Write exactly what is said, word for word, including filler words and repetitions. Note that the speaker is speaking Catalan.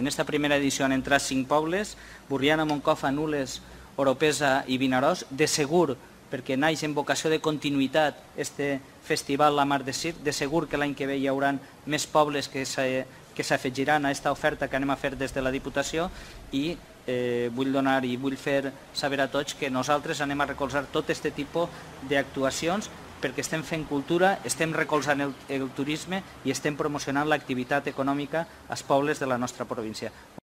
En esta primera edició han entrat cinc pobles: Borriana, Moncofa, Nules, Oropesa i Vinaròs. De segur, perquè naix en vocació de continuïtat este festival La Mar de Circ, de segur que l'any que ve hi haurà més pobles que s'afegiran a aquesta oferta que anem a fer des de la Diputació, i vull donar i vull fer saber a tots que nosaltres anem a recolzar tot aquest tipus d'actuacions, perquè estem fent cultura, estem recolzant el turisme i estem promocionant l'activitat econòmica als pobles de la nostra província.